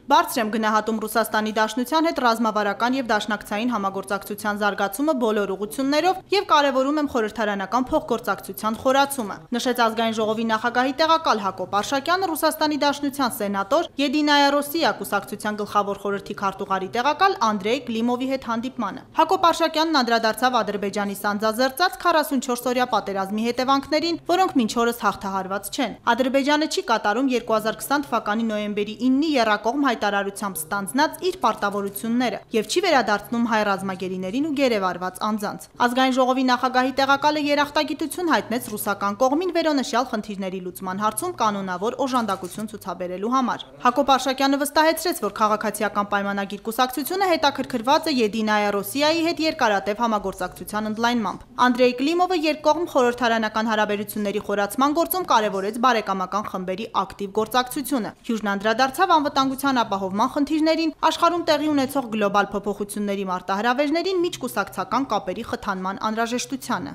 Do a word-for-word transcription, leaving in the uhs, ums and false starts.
Բարձր եմ գնահատում Ռուսաստանի Դաշնության հետ ռազմավարական և դաշնակցային համագործակցության զարգացումը բոլոր ուղղություններով և կարևորում եմ խորհրդարանական փոխգործակցության խորացումը, նշեց Ազգային ժողովի նախագահի տեղակալ Հակոբ Արշակյանը Ռուսաստանի Դաշնության սենատոր «Եդինայա Ռոսիա» կուսակցության գլխավոր խորհրդի քարտուղարի տեղակալ Անդրեյ Կլիմովի հետ հանդիպմանը։ Հակոբ Արշակյանն անդրադարձավ Ադրբեջանի սանձազերծած քառասունչորսօրյա պատերազմի հետևանքներին, որոնք մինչ օրս հաղթահարված չեն։ Ադրբեջանը չի կատարում երկու հազար քսան թվականի նոյեմբերի իննի եռակողմ հայտարարությամբ ստանձնած իր պարտավորությունները և չի վերադարձնում հայ ռազմագերիներին ու գերեվարված անձանց։ Ազգային ժողովի նախագահի տեղակալը երախտագիտություն հայտնեց ռուսական կողմին վերոնշյալ խնդիրների լուծման հարցում կանոնավոր օժանդակություն ցուցաբերելու համար։ Հակոբ Արշակյանը վստահեցրեց, որ քաղաքացիական պայմանագիր կուսակցությունը հետաքրքրված է Եդինայա Ռոսիայի հետ երկարատև համագործակցության ընդլայնմամբ։ Անդրեյ Կլիմովը երկկողմ խորհրդարանական հարաբերությունների խորացման գործում կարևորեց բարեկամական խմբերի ակտիվ գործակցությունը։ Հյուժն անդրադարձավ անվտանգության ապահովման խնդիրներին, աշխարհում տեղի ունեցող գլոբալ փոփոխությունների մարտահրավերներին, միջկուսակցական կապերի խթանման անհրաժեշտությանը։